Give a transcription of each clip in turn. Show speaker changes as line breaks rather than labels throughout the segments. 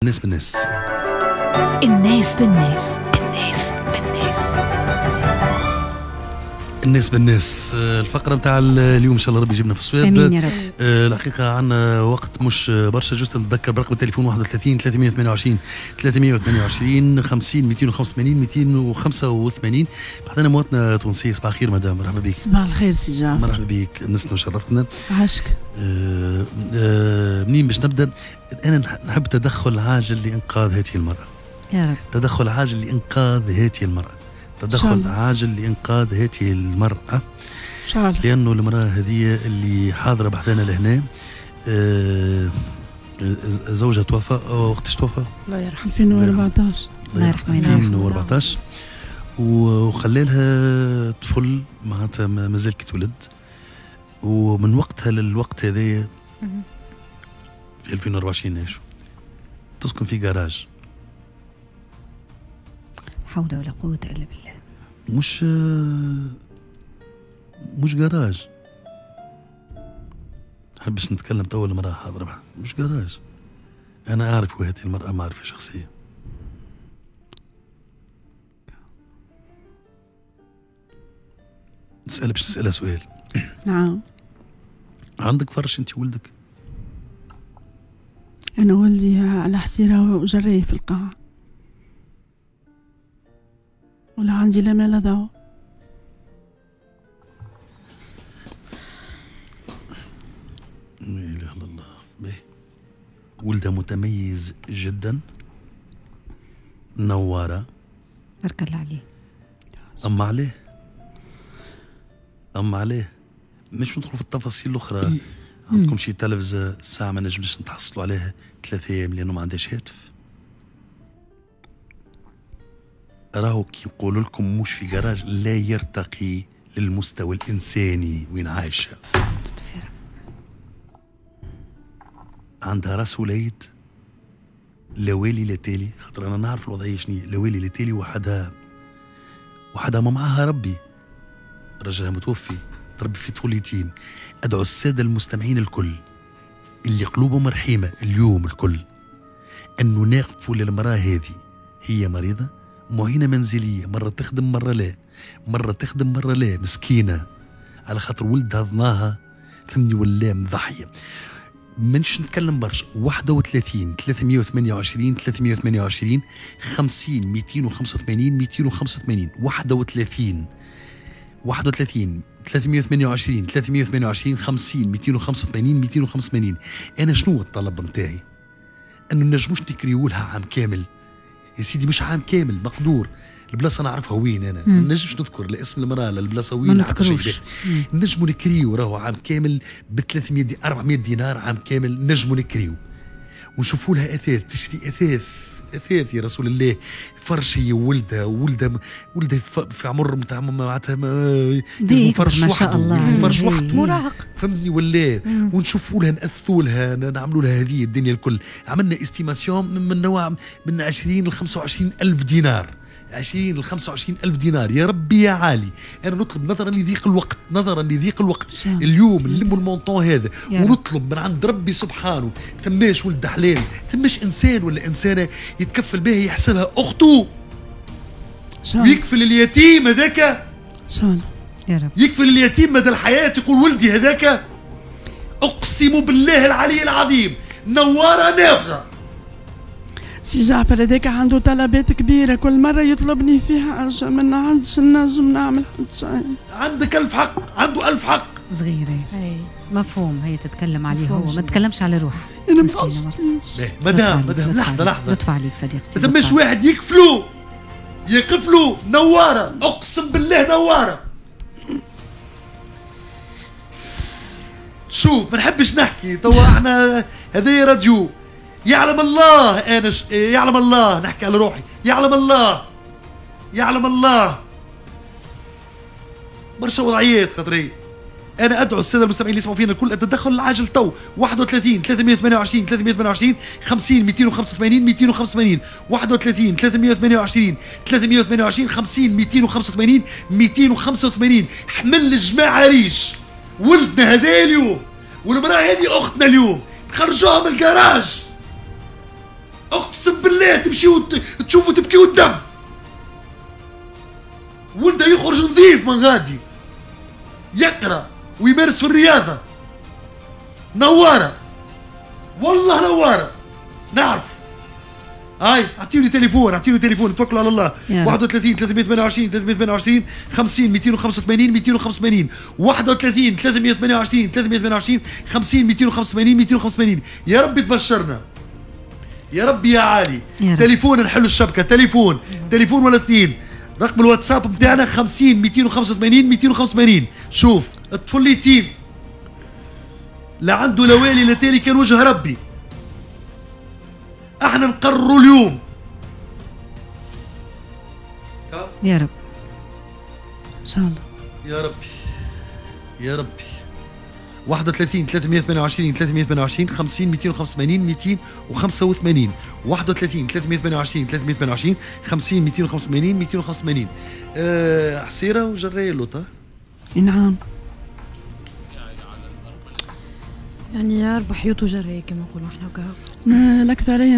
الناس بالناس.
الناس بالناس.
الناس بالناس، الفقرة نتاع اليوم إن شاء الله ربي يجيبنا في الصواب.
امين يا رب.
الحقيقة عندنا وقت مش برشا، juste نتذكر برقم التليفون 31 328 328 50 285 285. بحذانا مواطنة تونسية. صباح الخير مدام، مرحبا بك.
صباح الخير سي جعفر.
مرحبا بك، نسنا وشرفتنا.
عاشك.
منين باش نبدا؟ أنا نحب تدخل عاجل لإنقاذ هذه المرأة.
يا رب.
تدخل عاجل لإنقاذ هذه المرأة. تدخل عاجل لإنقاذ هذه المرأة. لأنه المرأة هذه اللي حاضرة بحذانا لهنا زوجها توفى. وقتاش توفى؟
الله يرحمه. 2014.
الله يرحمه.
2014. وخلى لها طفل معناتها مازال كي تولد، ومن وقتها للوقت هذايا في 2024 نعيشوا تسكن في جراج.
حول ولا قوة إلا بالله.
مش جراج. نحبش نتكلم تو المرأة حاضرة، مش جراج. أنا أعرف هذه المرأة معرفة شخصية. نسأل باش نسألها سؤال.
نعم.
عندك فرش أنت ولدك؟
أنا ولدي على حسيرة وجري في القاعة، ولا عندي لا مال لا دواء.
لا إله إلا الله. به ولدها متميز جدا، نوارة،
بارك الله عليه.
أما عليه، أما عليه مش ندخل في التفاصيل الأخرى. عندكم شي تلفزة ساعة ما نجمش نتحصلوا عليها 3 أيام لأنه ما عندهاش هاتف. راهو كي يقولوا لكم مش في جراج، لا يرتقي للمستوى الإنساني وين عايشة. عندها راس وليد لا والي لا تالي، خاطر أنا نعرف الوضعية شنو، لا والي لا تالي، وحدها وحدها ما معاها ربي، رجلها متوفي، تربي في طفل يتيم. أدعو السادة المستمعين الكل اللي قلوبهم رحيمة اليوم الكل أنه ناقفوا للمرأة هذه، هي مريضة معينة منزلية، مرة تخدم مرة لا، مرة تخدم مرة لا، مسكينة على خاطر ولدها ضناها، فهمني ولا مضحية. منش نتكلم برشا. 31 328 328 50 285 285. 31 31 328 328 50 285 285. أنا شنو الطلب نتاعي؟ أنه نجموش نكريولها عام كامل يا سيدي، مش عام كامل مقدور. البلاصة نعرفها وين انا، ما نجمش نذكر لا اسم المراة لا البلاصة وين،
ما نذكروش.
نجموا نكريو راهو عام كامل ب 300 دي 400 دينار عام كامل، نجموا نكريو ونشوفوا لها اثاث، تشري اثاث اثاث يا رسول الله، فرش هي وولدها، ولدها في عمر نتاع معناتها لازم فرش وحده، لازم فرش وحده،
مراهق،
فهمتني ولا؟ ونشوفوا لها، نأثوا لها، نعملوا لها هذه الدنيا الكل. عملنا estimation من نوع من 20 ل 25 ألف دينار، 20 ل 25 ألف دينار. يا ربي يا عالي، أنا نطلب نظرا لضيق الوقت، نظرا لضيق الوقت اليوم نلموا ال montant هذا ونطلب من عند ربي سبحانه ثماش ولد حلال، ثماش إنسان ولا إنسانة يتكفل بها، يحسبها أخته ويكفل اليتيم هذاك.
إن شاء الله
يا رب.
يكفل اليتيم مدى الحياة، يقول ولدي هذاك. أقسم بالله العلي العظيم نوارة نابغة.
سي جعفر هذاك عنده طلبات كبيرة، كل مرة يطلبني فيها حاجة ما عندش نجم نعمل حتى شيء.
عندك ألف حق، عنده ألف حق.
صغيرة مفهوم، هي تتكلم عليه هو، ما تتكلمش على روحها.
أنا ما عشتيش.
مدام مدام لحظة لحظة،
لطف عليك صديقتي.
ما ثماش واحد يكفلو، يقفلو نوارة، أقسم بالله نوارة. شوف ما نحبش نحكي توا، احنا هذا راديو، يعلم الله انا يعلم الله نحكي على روحي، يعلم الله، يعلم الله برشا وضعيات خاطري. انا ادعو السادة المستمعين اللي يسمعوا فينا الكل التدخل العاجل تو. 31 328 328 50 285 285. 31 328 328 50 285 285. حمل الجماعة ريش، ولدنا هذا اليوم والمراة هذه اختنا اليوم، خرجوها من الجراج. اقسم بالله تمشيو تشوفوا تبكيو الدم. ولده يخرج نظيف من غادي، يقرا ويمارس في الرياضة. نواره والله نواره، نعرف. هاي اعطيوني تليفون، اعطيوني تليفون، توكلوا على الله. 31 328 328 50 285 285 31 328 328 50 285 285. يا ربي تبشرنا يا ربي يا عالي. تليفون نحلوا الشبكة، تليفون تليفون ولا اثنين. رقم الواتساب نتاعنا 50 285 285. شوف الطفل يتيم لا عنده لا والي لا تالي، كان وجه ربي. احنا نقرروا اليوم
يا رب
ان شاء الله.
يا ربي يا ربي. 31 328 328 50 285 285 31 328 328 50 285 285. حصيره وجرايه اللوطه.
نعم
يعني أربع حيوط وجرايه كما نقولوا احنا وكا.
الأكثرية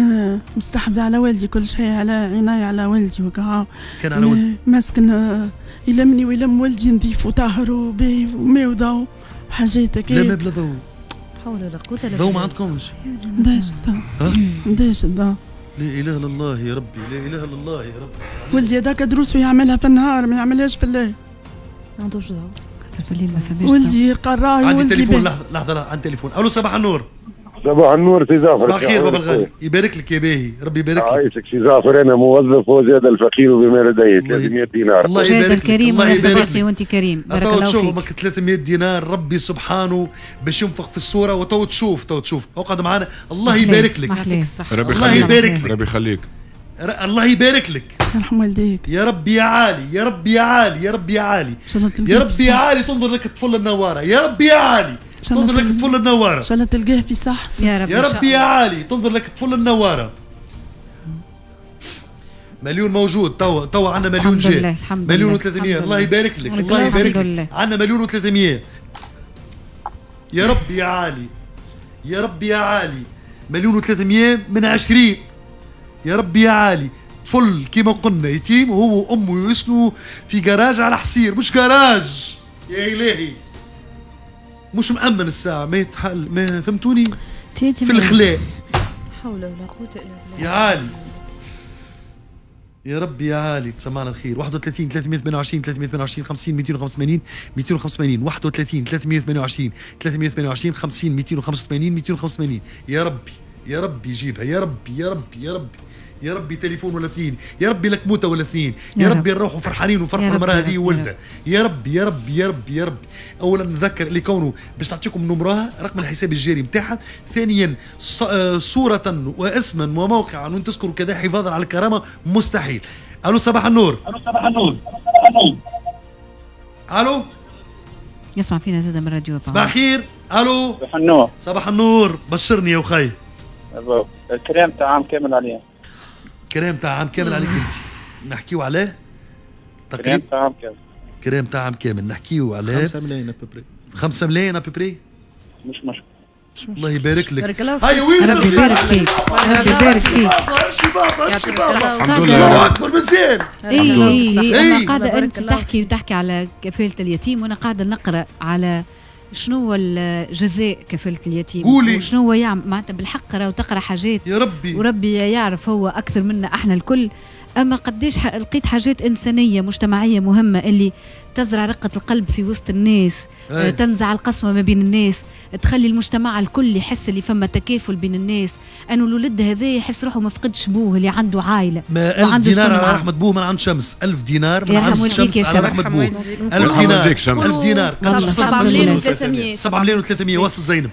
مستحفظة على والدي، كل شيء على عناية على والدي وكا.
كان على والدي
مسكن يلمني ويلم والدي نظيف وطاهر وباهي وماء وضوء حاجات هكا.
لا ما بلا ضوء.
حول ولا قوة الا بالله.
ضوء ما عندكمش؟
نداش الضوء. نداش الضوء.
لا اله الا الله يا ربي، لا اله الا الله يا ربي.
ولدي هذاك دروسه يعملها في النهار ما يعملهاش في الليل.
ما عندوش ضوء
في الليل، ما فماش.
ولدي قراي.
عندي تليفون، لحظة لحظة، عندي تليفون. الو صباح النور.
صباح النور سي جعفر.
صباح الخير بابا الغالي، يبارك لك يا باهي، ربي يبارك لك.
عايشك سي جعفر، انا موظف وزاد الفقير بما لديه 300 دينار.
الله يبارك لك.
الكريم الله يبارك لك وانت كريم، بارك الله فيك.
300 دينار ربي سبحانه باش ينفق في الصورة، وتو تشوف تو تشوف، اقعد معنا. الله يبارك لك.
ربي
الله يبارك لك.
ربي يخليك.
الله يبارك لك.
يرحم والديك
يا ربي يا عالي، يا ربي يا عالي، يا ربي يا عالي، يا ربي يا عالي. تنظر لك الطفل النواره، يا ربي يا عالي، تنظر لك الطفل النواره.
ان شاء الله تلقاه في صحته
يا رب.
يا ربي يا عالي، تنظر لك الطفل النواره. مليون موجود توا عندنا مليون جاي، مليون و300. الله يبارك لك، الله يبارك لك. عندنا مليون و300. يا ربي يا عالي، يا ربي يا عالي، مليون و300 من 20. يا ربي يا عالي. طفل كيما قلنا يتيم، وهو وامه يسكنوا في جراج على حصير، مش جراج يا الهي، مش مأمن الساعة، ما يتحل، ما فهمتوني؟ في الخلاء.
حول ولا قوة إلا بالله.
يا عالي يا ربي يا عالي، تسمعنا الخير. 31 328 328 50 285 285 31 328 328 50 285 285. يا ربي يا ربي جيبها، يا ربي يا ربي يا ربي يا ربي. تليفون ولا اثنين، يا ربي لك موتة ولا اثنين، يا ربي نروحوا فرحانين ونفرحوا المرأة هذه وولدها، يا ربي يا ربي يا ربي يا ربي. أولا نذكر اللي كونه باش نعطيكم نمرها، رقم الحساب الجاري نتاعها، ثانيا صورة واسما وموقعا وان تذكروا كذا حفاظا على الكرامة مستحيل. ألو صباح النور. ألو صباح النور. ألو.
يسمع فينا زاد من الراديو.
صباح الخير. ألو.
صباح النور.
صباح النور، بشرني يا وخي.
الكريم تاع عام كامل عليا.
كريم تاع عام كامل عليك انت. نحكيو عليه تقريبا
كريم تاع عام كامل.
كريم تاع عام كامل نحكيو عليه
5 ملايين à peu près.
5 ملايين à peu près
مش مشكل.
الله يبارك لك.
بارك الله فيك.
هيا وين
ربي يبارك فيك. ربي يبارك فيك.
امشي بابا امشي بابا.
الحمد لله.
الله اكبر مزيان.
اي اي انا قاعدة انت تحكي وتحكي على كفالة اليتيم، وانا قاعدة نقرا على شنو هو الجزاء كفالة اليتيم، وشنو هو يعمل معناتها بالحق. راهو تقرا حاجات
يا ربي،
وربي يعرف هو اكثر منا احنا الكل. اما قديش لقيت حاجات انسانيه مجتمعية مهمة اللي تزرع رقه القلب في وسط الناس، تنزع القسمة ما بين الناس، تخلي المجتمع الكل يحس اللي فما تكافل بين الناس، انه الولد هذا يحس روحه ما فقدش بوه اللي عنده عائلة.
ما 1000 دينار على رحمه بوه من عند شمس، 1000 دينار من عند شمس على رحمه بوه، 1000 دينار 1000 دينار
7 ملايين و300
7 ملايين و300. وصل زينب.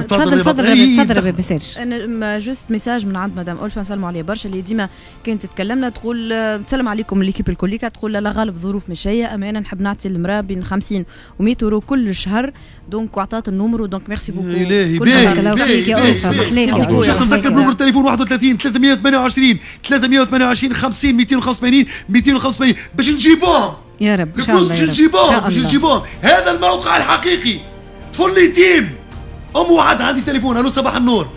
تفضل تفضل تفضل بسالش.
انا juste message من عند مدام ألفا، نسلموا عليها برشا، اللي ديما كانت تتكلمنا تقول تسلم عليكم l'équipe الكليكا، تقول لا غالب ظروف مشيه، اما انا نحب نعطي المراة بين 50 و 100 اورو كل شهر، donc وعطات ال numéro، donc merci beaucoup.
الهي باهي باهي. باش نتذكر numéro التليفون 31 328 328 50 285 285 باش نجيبوهم
يا رب ان شاء الله.
باش نجيبوهم باش نجيبوهم. هذا الموقع الحقيقي. طفل يتيم ام وعد. عندي تليفون. الو صباح النور.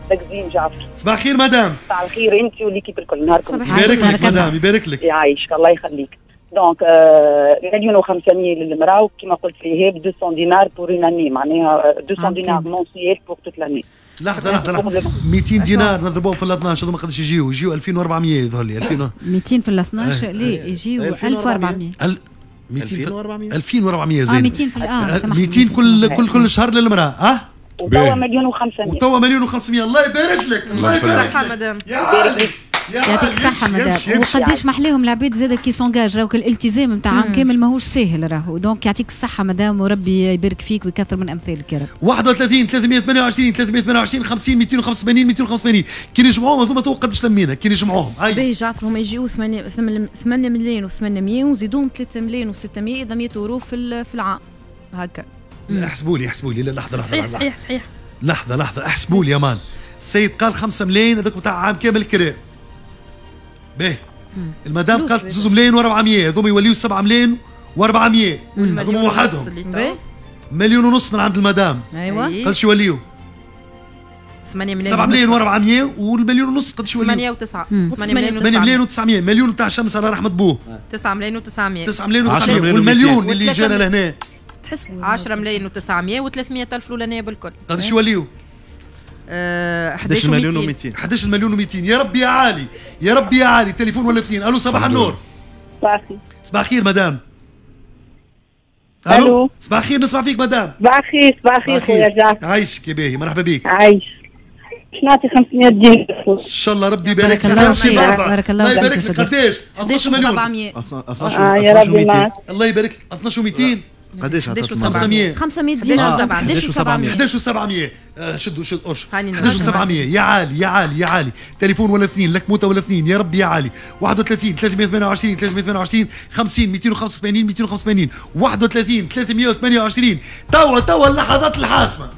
تقزيم جعفر.
صباح الخير مدام.
صباح الخير انت و l'équipe الكل، نهاركم
يبارك لك مدام، يبارك لك.
يعيشك الله يخليك. donc 1,5 مليون للمراة، وكما قلت لي 200 دينار pour une année، معناها 200 دينار mensuel pour toute l'année.
لحظة لحظة لحظة، 200 دينار نضربوهم في ال 12 هذوما قداش يجيو 2400 يظهر لي.
200 في ال 12 ليه يجيو 1400.
2400 زين.
200 في
200 كل شهر للمراة.
وتوا 1,5 مليون.
وتوا 1,5 مليون. الله يبارك لك.
الله يبارك لك مدام.
يعطيك الصحة مدام. وقداش محليهم العباد زاد qui s'engagent، راهو الالتزام نتاع عام كامل ماهوش ساهل راهو. donc يعطيك الصحة مدام، وربي يبارك فيك ويكثر من أمثالك يا رب.
31 328 328 50 285 285 كي نجمعوهم هذوما تو قداش لمينا كي نجمعوهم؟
باهي جعفر، هما يجيو 8 ملايين و800 وزيدوهم 3 ملايين و600، إذا 100 أورو في العام هكا.
احسبوا لي احسبوا لي. لا لحظة لحظة.
صحيح صحيح صحيح.
لحظة لحظة احسبوا لي يا مان. السيد قال 5 ملايين هذوك نتاع عام كامل كراء. باهي المدام قالت 2 ملايين و400، هذوما يوليو 7 ملايين و400، هذوما وحدهم. 1.5 مليون من عند المدام.
ايوه
قداش يوليو؟
8 ملايين.
7 ملايين و400 والمليون ونص قداش يوليو؟
8 و9.
8 ملايين و900، مليون تاع شمس على رحمة بوه.
9 ملايين و900.
9 ملايين و900 والمليون اللي جانا لهنا
تحسبوا
10 ملايين و900 و300 ألف الأولانية بالكل.
قداش يوليو؟
11 مليون و200.
11 مليون و200. يا ربي يا عالي، يا ربي يا عالي. تليفون ولا اثنين. الو صباح النور.
صباح الخير.
صباح الخير مدام. الو صباح الخير، نسمع فيك مدام.
صباح الخير. صباح الخير خويا جعفر.
عايشك يا باهي، مرحبا بك.
عايش. باش نعطي 500 دينار.
ان شاء الله ربي يبارك لك.
بارك الله
يبارك لك. قداش؟ 12 مليون.
يا ربي معك.
الله يبارك لك. 12 و200.
قداش؟
500.
500 دينار.
11 و700. 11 و700. شدوا شد قرش. 11 و700. يا عالي يا عالي يا عالي. تليفون ولا اثنين، لك موتة ولا اثنين. يا ربي يا عالي. 31 328 328 50 285 285 31 328. توا اللحظات الحاسمة.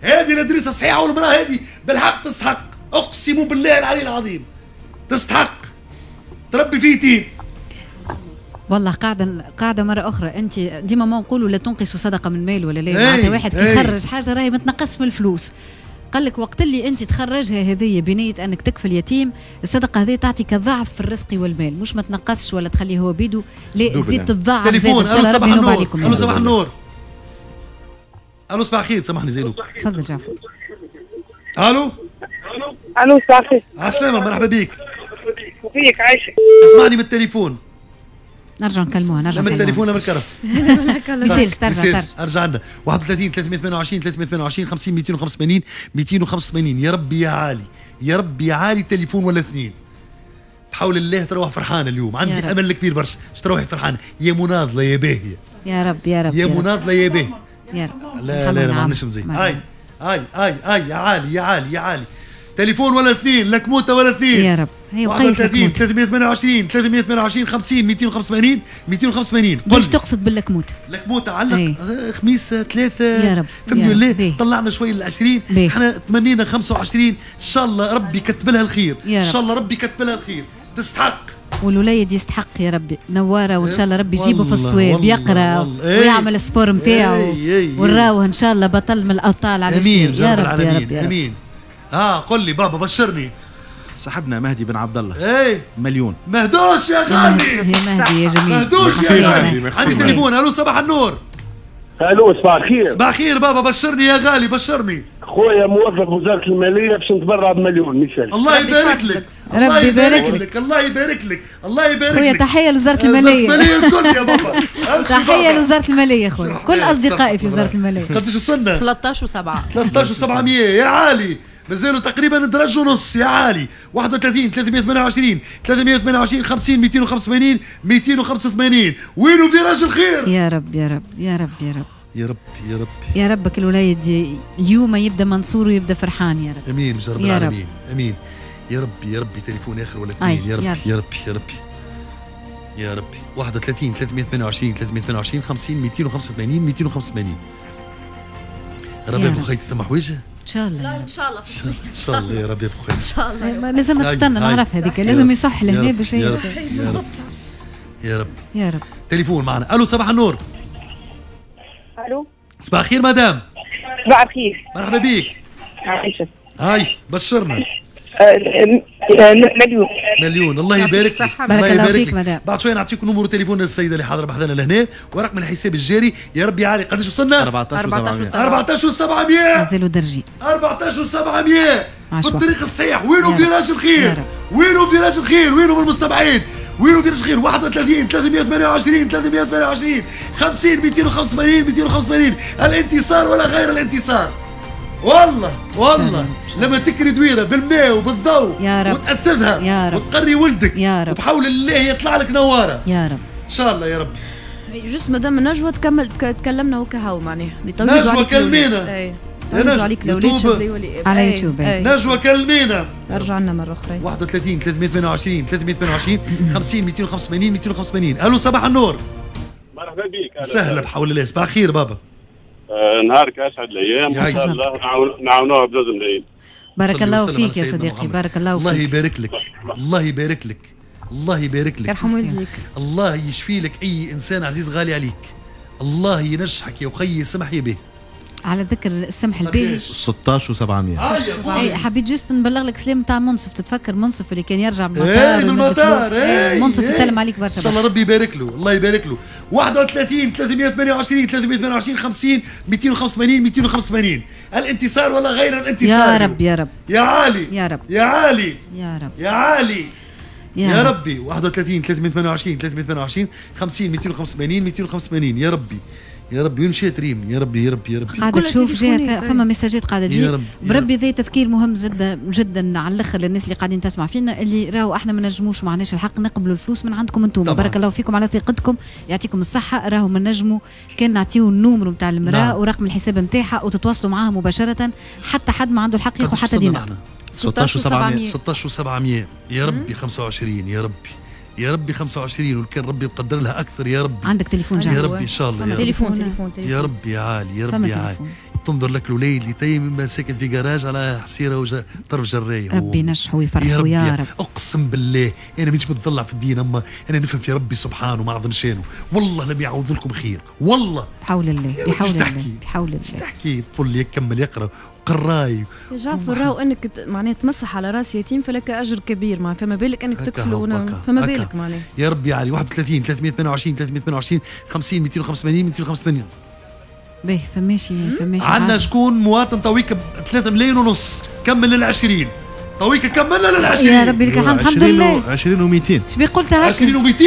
هذه الادريسة صحيحة، والمرأة هذه بالحق تستحق، اقسم بالله العلي العظيم تستحق. تربي في يتيم.
والله قاعدة مرة أخرى، أنت ديما ما نقولوا لا تنقصوا صدقة من مال ولا لا، معناتها واحد كي يخرج حاجة راهي ما تنقصش من الفلوس. قال لك وقت اللي أنت تخرجها هذية بنية أنك تكفل يتيم، الصدقة هذه تعطيك ضعف في الرزق والمال، مش ما تنقصش ولا تخليه هو بيدو، لا تزيد تتضاعف.
تليفون. ألو صباح النور. ألو صباح النور. ألو صباح الخير. سامحني زينو.
تفضل جعفر.
ألو.
ألو صباح الخير.
عسلامة، مرحبا بك.
بيك عايشك.
اسمعني من التليفون.
نرجع نكلموها، نرجع
من التليفون ولا من الكرف؟
ما ترجع
ارجع لنا. 31 328 328 50 285 285. يا ربي يا عالي، يا ربي يا عالي. تليفون ولا اثنين. بحول الله تروح فرحانة اليوم، عندي امل كبير برشا باش تروحي فرحانة يا مناضله يا باهيه.
يا رب يا رب
يا مناضله يا باهيه
يا رب.
لا لا لا ما عندناش مزيان. هاي هاي هاي هاي يا عالي يا عالي يا عالي. تليفون ولا اثنين، لك موتة ولا اثنين.
يا رب. هي
31 328 328 50 285 285.
باش تقصد باللكموتة؟
لكموتة علق خميس 3.
يا رب.
فهمتني ولا؟ طلعنا شوي لل 20، احنا تمنينا 25. ان شاء الله ربي كتب لها الخير، ان شاء الله ربي كتب لها الخير. تستحق.
والوليد يستحق يا ربي، نواره، وان شاء الله ربي يجيبه في الصواب، يقرا ويعمل ال sport نتاعو، وراوه ان شاء الله بطل من الابطال.
امين يا رب العالمين. امين. قل لي بابا بشرني.
صاحبنا مهدي بن عبد الله.
ايه
مليون.
مهدوش يا غالي.
يا مهدي يا جميل.
مهدوش يا غالي. عندي تليفون. الو صباح النور.
الو صباح الخير.
صباح الخير بابا، بشرني يا غالي، بشرني.
خويا موظف وزارة المالية باش نتبرع بمليون مثال.
الله يبارك لك. الله يبارك لك. الله يبارك لك. الله يبارك لك.
خويا تحية لوزارة المالية.
وزارة المالية الكل يا بابا.
تحية لوزارة المالية خويا، كل أصدقائي في وزارة المالية.
قداش وصلنا؟
13 و7.
13 و700 يا عالي. مازالوا تقريبا درج ونص يا عالي. 31 328 328 50 285 285. وينو فيراج الخير؟
يا رب يا رب يا رب يا رب
يا رب يا رب
يا ربك الوليد اليوم يبدا منصور ويبدا فرحان يا رب.
امين يا رب العالمين. امين يا رب يا ربي. تليفون اخر ولا اثنين يا رب يا رب يا رب يا ربي. 31 328 328 50 285 285. ربي ابو خيتي ثم حويجه
ان شاء الله.
لا ان شاء الله
ان شاء الله يا ربي ابو خيتي
ان شاء الله.
لازم تستنى نعرف هذيك، لازم يصح لهنا باش
يا رب يا رب يا رب
يا رب.
تليفون معنا. الو صباح النور.
الو
صباح الخير مدام.
صباح الخير،
مرحبا بك.
عايشك.
هاي بشرنا.
مليون.
مليون. الله يبارك لك.
بارك الله فيك مدام.
بعد شوية نعطيكم numéro تليفون السيدة اللي حاضره بحذانا لهنا ورقم الحساب الجاري. يا ربي عالي قداش وصلنا؟ 14 و700.
مازالوا درجي.
14 و700 في الطريق الصحيح. وينو فيراج الخير؟ وينو فيراج الخير؟ وينو من المستمعين؟ وينو فيراج الخير؟ 31 328 328 50 285 285. الانتصار ولا غير الانتصار. والله والله لما تكري دويره بالماء وبالضوء وتأثذها
يا رب
وتقري ولدك
يا رب
وبحول الله يطلع لك نواره
يا رب
ان شاء الله يا رب.
juste مدام نجوى تكمل تكلمنا وكهو معناها.
نجوى كلمينا.
نجوى عليك الاولاد
على يوتيوب.
نجوى كلمينا.
ارجع لنا مرة اخرى.
31 328 328 50 285 285. الو صباح النور.
مرحبا بك.
سهلا بحول الله. صباح الخير بابا.
نهارك اسعد الايام ان شاء الله نعاونوها بزوز ملايين.
بارك الله فيك يا صديقي. بارك الله فيك.
الله يبارك لك. الله يبارك لك. الله يبارك لك.
يرحم والديك.
الله يشفي لك اي انسان عزيز غالي عليك. الله ينجحك يا وخي سمح يا به.
على ذكر السمح الباهي
16 و700.
اي حبيت juste نبلغ لك سلام تاع منصف. تتفكر منصف اللي كان يرجع من المطار؟
اي من المطار. اي
منصف يسلم عليك برشا.
ان شاء الله ربي يبارك له. الله يبارك له. 31 328 328 50 285 285. الانتصار ولا غير الانتصار.
يا رب يا رب
يا عالي
يا رب
يا عالي
يا رب
يا عالي يا ربي. 31 328 328 50 285 285. يا ربي يا ربي. وين مشيت ريم؟ يا ربي يا ربي يا ربي.
قاعدة تشوف جاي فما ميساجات قاعدة تجي. بربي ذي تذكير مهم جدا جدا على الاخر للناس اللي قاعدين تسمع فينا، اللي راهو احنا ما نجموش ما عندناش الحق نقبلوا الفلوس من عندكم انتم. بارك الله فيكم على ثقتكم، يعطيكم الصحة. راهو ما نجموا كان نعطيو ال numéro نتاع المراة
نعم.
ورقم الحساب نتاعها وتتواصلوا معاها مباشرة. حتى حد ما عنده الحق ياخذ حتى دينار.
16 و700.
16 و700 يا ربي. 25 يا ربي يا ربي. 25 والكان ربي مقدر لها اكثر يا ربي.
عندك تليفون جاي
يا ربي ان شاء الله. يا
تليفون تليفون
يا ربي يا عالي يا ربي يا عالي. تنظر لك الوليد اللي تيم ساكن في جراج على حصيره وطرف جرايه.
ربي ينجحه ويفرحه يا رب.
اقسم بالله انا مانيش متضلع في الدين، اما انا نفهم في ربي سبحانه ما اعظم شانه. والله لم يعوض لكم خير والله.
بحول الله بحول الله بحول الله.
تحكي الطفل يكمل يقرا قراي
يا جعفر. راهو انك معناها تمسح على راس يتيم فلك اجر كبير، معناها فما بالك انك تكفله، فما بالك معناها.
يا ربي علي. 31 328 328 50 285 285.
باهي فماشي فماشي.
عندنا شكون مواطن تويك 3 ملايين ونص. كمل لل 20 تويك، كملنا لل 20
يا ربي لك الحمد. الحمد لله.
20 و200.
شبي قلت هكا؟
20 و200.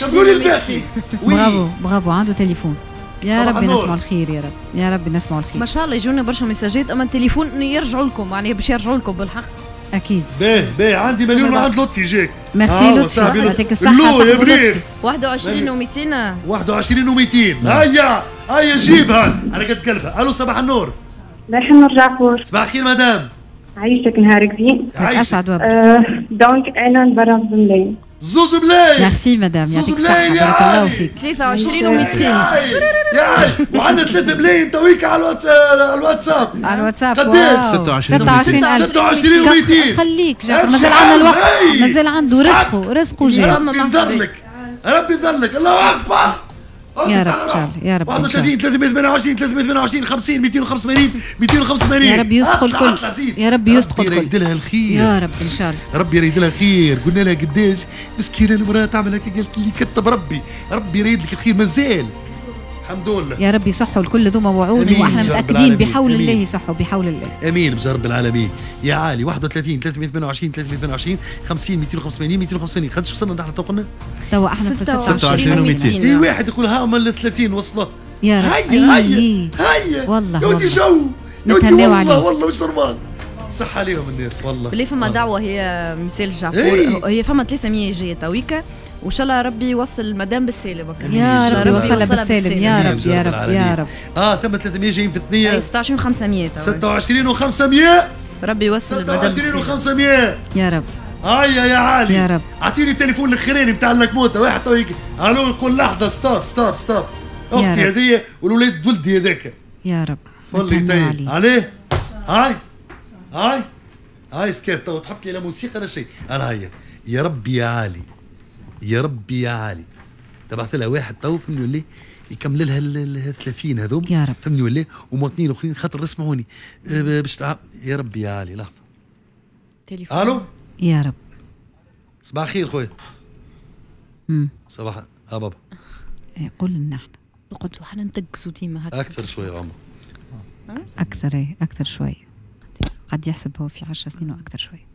كملوا لي الباقي.
برافو برافو. عنده تليفون. يا ربي نسمعوا الخير يا رب يا ربي نسمعوا الخير.
ما شاء الله يجونا برشا ميساجات، اما التليفون يرجعوا لكم معناها باش يرجعوا لكم بالحق.
اكيد.
باهي باهي. عندي مليون وعند لطفي جاك.
ميرسي لطفي يعطيك الصحة.
يا برير.
21 و200.
21 و200. هيا هيا جيبها على قد قلبها. الو صباح النور.
صباح النور جعفور.
صباح الخير مدام.
عايشك نهارك زين.
عايشك.
donc انا نبرا بملايين.
زوز ملايين.
merci madame يعطيك الصحة بارك الله فيك.
23 و200
يا وعندنا 3 ملايين تويك على الواتساب.
على الواتساب
قداش؟
26
26 و200.
خليك جعفر مازال عندنا الوقت، مازال عنده رزقه رزقه جاي.
ربي يضلك ربي يضلك. الله اكبر
يا رب ان شاء الله يا رب.
31 328 328 50 285 285.
يا رب يسقوا الكل يا رب يسقوا الكل.
ربي يريد لها الخير
يا رب ان شاء الله.
ربي يريد لها الخير. قلنا لها قداش مسكينه المراة تعمل هكا، قالت لي كتب ربي. ربي يريد لك الخير مازال الحمد لله.
يا رب يصحوا الكل ذوما وعود واحنا متاكدين بحول الله يصحوا بحول الله.
امين بجاه رب العالمين يا عالي. 31 328 328 50 285 285. قداش وصلنا نحن تو قلنا؟
توا احنا في
26 و200.
اي واحد يقول ها هما 30 وصلوا.
يا رب
هيا هيا هيا
والله
يا ودي جو يا ودي والله والله مش normal. صح عليهم الناس والله.
بالله فما دعوه هي مثال جعفور، هي فما 300 جاية تويكا وان شاء الله ربي يوصل مدام بالسالم.
يا رب يوصلها بالسالم يا رب يا رب يا رب.
ثم 300 جايين في الثنية.
26 و500.
26 و500.
ربي يوصل المدام
26 و500
يا رب.
هيا يا عالي
يا رب.
اعطيني التليفون الاخراني بتاع اللكموته. واحد تو الو يقول لحظة stop stop stop. اختي هذيا والولاد ولدي هذاك.
يا رب
تولي طيب عليه. هاي هاي هاي سكت تو تحط لي لا موسيقى لا شيء. انا هيا يا ربي يا عالي يا ربي يا عالي. تبعث لها واحد تو فهمني يقول لي يكمل لها ال 30 هذوم
يا رب،
فهمني ولا؟ ومواطنين اخرين خاطر اسمعوني باش يا ربي يا علي لحظة.
تليفون.
الو
يا رب.
صباح الخير خويا. صباح بابا.
قول لنا احنا
قلت له احنا نتقصوا ديما هكا
اكثر شوية عمر.
اكثر ايه اكثر شوية. قد يحسب هو في 10 سنين واكثر شوية.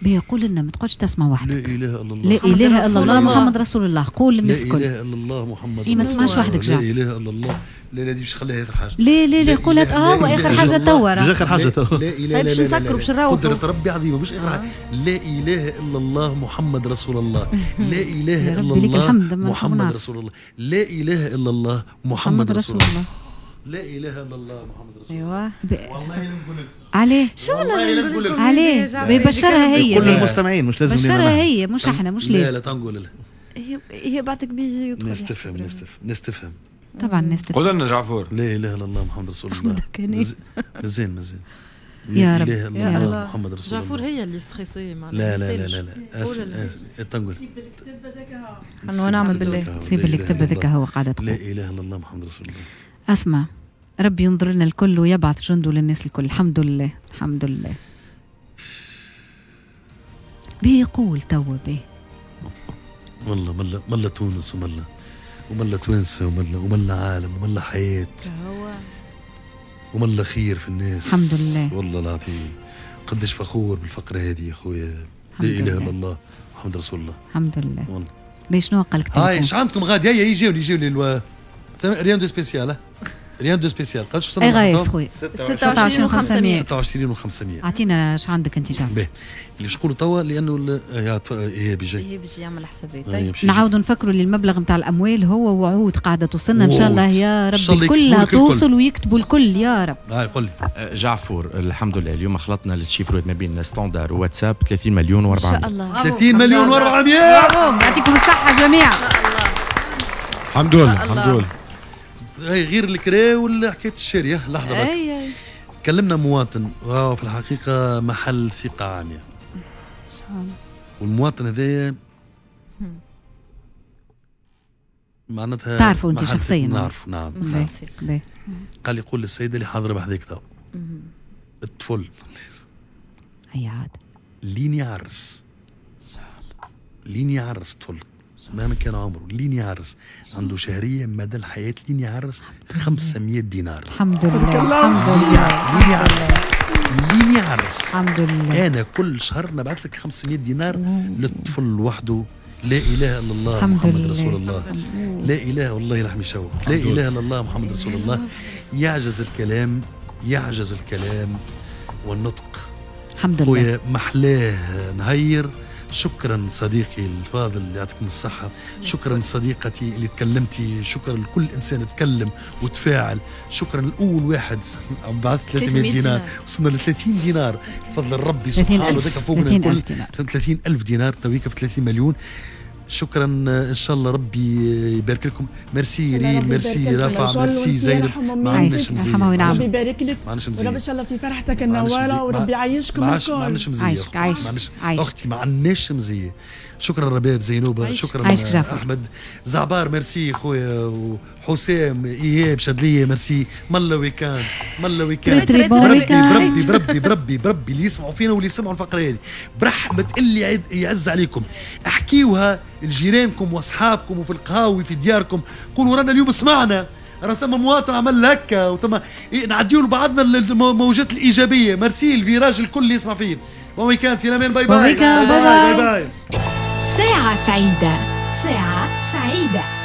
بيه قول لنا ما تقعدش تسمع وحدك.
لا اله الا الله.
لا اله الا الله محمد رسول الله. قول للناس الكل.
لا اله الا الله محمد.
إيه ما تسمعش وحدك جعفر.
لا اله الا الله. لا لا دي باش نخليها اخر حاجة.
لا لا لا قولها واخر حاجة توا.
مش اخر حاجة توا.
لا اله لا لا لا لا. قدرة ربي عظيمة مش اخر حاجة. لا اله الا الله محمد رسول الله. لا اله الا الله محمد رسول الله. لا اله الا الله محمد رسول الله. لا اله الا الله محمد رسول الله. ايوه والله لا نقول لك
عليه.
شو والله نقول لك
عليه بيبشرها هي.
كل المستمعين مش لازم
بشرها هي مش احنا مش لازم.
لا لا تنقول لها.
هي بعتك بيجي يدخل.
الناس تفهم الناس تفهم
طبعا الناس تفهم.
قول لنا جعفور.
لا اله الا الله محمد رسول الله. مازال مازال
يا رب.
لا اله الا الله محمد رسول الله.
جعفور هي اللي stressée معناها.
لا لا لا لا لا تنقول.
ونعم بالله.
سيب اللي كتب هذاك هو قاعدة تقول.
لا اله الا الله محمد رسول الله.
اسمع ربي ينظر لنا الكل ويبعث جنده للناس الكل. الحمد لله الحمد لله. بيقول توا به
والله ملا ملا تونس وملا وملا توانسة وملا وملا عالم وملا حياة وملا خير في الناس.
الحمد لله
والله العظيم قداش فخور بالفقره هذه يا خويا. لا اله الا الله محمد رسول الله.
الحمد لله
والله.
باش شنو قال لك؟
هاي ايش عندكم غادي؟ هيا يجيوني يجيوني rien de spécial rien de spécial. قداش وصلنا؟
اي غايس خويا
26 و500.
26 و500.
اعطينا اش عندك انت جعفر.
باهي اللي باش نقولوا توا لانه هي بيجي
هي بيجي يعمل حسابات.
نعاودوا نفكروا اللي المبلغ نتاع الاموال هو وعود قاعدة توصلنا ان شاء الله يا رب كلها توصل ويكتبوا الكل يا رب.
هاي قول لي
جعفور. الحمد لله اليوم خلطنا لل chiffre ما بين standard وواتساب 30 مليون و400.
ان شاء الله
30 مليون و400.
يعطيكم الصحة جميعا.
الحمد لله الحمد لله.
اي غير الكرا ولا حكاية الشاريه. لحظة برك. كلمنا مواطن وهو في الحقيقة محل ثقة عامية. والمواطن هذايا معناتها
تعرفوا انت شخصيا؟
نعرف نعم. قال يقول للسيدة اللي حاضره بحذاك تو الطفل
هي عاد
لين يعرس لين يعرس طفل مهما كان عمره لين يعرس عنده شهرية مدى الحياة لين يعرس 500 دينار.
الحمد لله الحمد لله.
لين يعرس لين يعرس
الحمد لله.
انا كل شهر نبعث لك 500 دينار للطفل وحده. لا اله الا الله محمد رسول الله. لا اله والله لحمي شوك. لا اله الا الله محمد رسول الله. يعجز الكلام يعجز الكلام والنطق.
الحمد لله
خويا محلاه نهير. شكرا صديقي الفاضل يعطيكم الصحة. شكرا صديقتي اللي تكلمتي. شكرا لكل إنسان تكلم وتفاعل. شكرا لأول واحد بعث 300 دينار. وصلنا ل 30 دينار بفضل ربي سبحانه ذاك فوقنا الكل 30,000 دينار تويكا في 30 مليون. شكرا ان شاء الله ربي يبارك لكم. ميرسي ريم، ميرسي رافع، ميرسي زينب. ما عندناش مزية.
ربي يبارك لك وربي ان شاء الله في فرحتك النواره وربي يعيشكم الكل.
ما عندناش مزية.
عايشك عايشك
اختي ما عندناش مزية. شكرا رباب زينوبه، شكرا احمد زعبار، ميرسي خويا وحسام ايهاب شدليه، ميرسي. ملا week-end ملا week-end. بربي بربي بربي بربي اللي يسمعوا فينا واللي يسمعوا الفقرة هذه برحمة اللي يعز عليكم احكيوها لجيرانكم واصحابكم وفي القهاوي في دياركم. قولوا رانا اليوم سمعنا راه ثم مواطن عمل هكا وثم نعديو لبعضنا الموجات الايجابية. merci ال virage الكل اللي يسمع فيه. bon week-end في الامان. bye bye bye bye, bye, bye.
ساعة سعيدة ساعة سعيدة.